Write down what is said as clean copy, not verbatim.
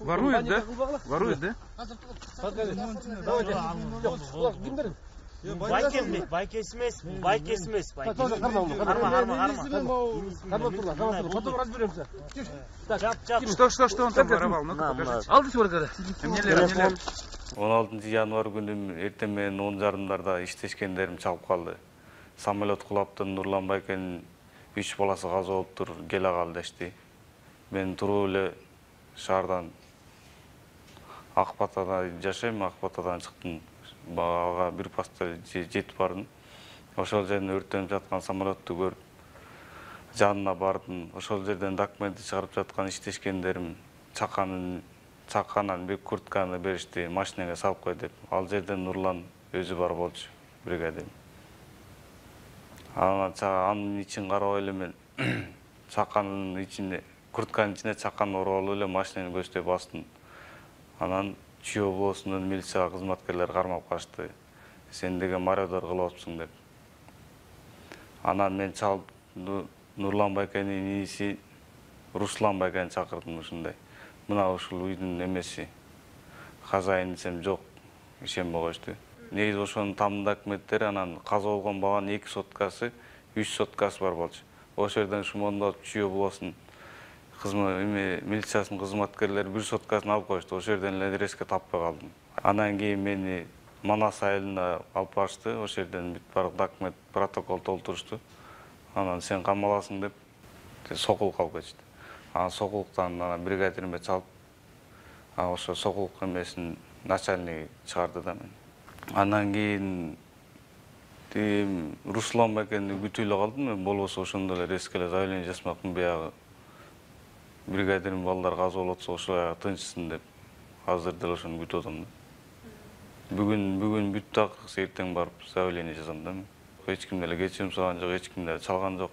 Ворует, да? Ворует, да? Байкес эмес. Что он там воровал? Ну-ка покажите. Алдысы бар кара. Эмнелер? 16 январь күнү эртең менен 10:30 иштешкендерим чалып калды. Самолет кулаптı, Нурлан Байкенин 3 баласы каза болуптур, келе кал дешти. Мен туруп эле шаардан Акбатада жашайм, Акбатадан чыктым. Ага бир паста жетип бардым. Ошол жерден өрттөнүп жаткан самолетту көрүп, жанына бардым. Ошол жерден документти чыгарып жаткан иштешкендерим чаканан бир куртканы беришти, машинага салып кой деп. Ал жерден Нурлан өзү бар болчу, бригадир. Анын ичин карабай эле мен чаканын ичине, куртканын ичине чаканы уруп алып эле машинаны көздөй бастым. Анан Чүй облусунун милиция кызматкерлери кармап качты. Сен деген мародер кылып атсың деп. Анан мен чалып Нурлан Байкенин ээси Руслан Байкени чакырдым ушундай. Мына ушул үйдүн эмеси. Хозяин десем жок, ишенбей коюшту. Негизи ошонун там документтери анан каза болгон баганын 2 соткасы, 3 соткасы бар болчу. Ошол жерден шумондоп Чүй облусунун милициясынын кызматкерлери 1 соткасын алып коюшту. Ошол жерден эле резко таппай калдым. Анан кийин мени Манас айылына алып барышты. Ошол жерден бүт баардык документ, протокол толтурушту. Анан сен камаласың деп сокулукка алып кетишти. Анан сокулуктан бригадириме чалып, ошо сокулук эмесин начальник чыгарды да мен. Анан кийин Руслан Байкени күтүп эле калдым мен, болбосо ошондо эле резко эле заявление жазмакмын биягы. Бригадирим балдар каза болуп атса ошо тынчсын деп. Азыр деле ошону күтүп атам да. Бүгүн бүттү, эртең барып заявление жазам да мен. Эч ким деле кечирим сураган жок, эч ким деле чалган жок.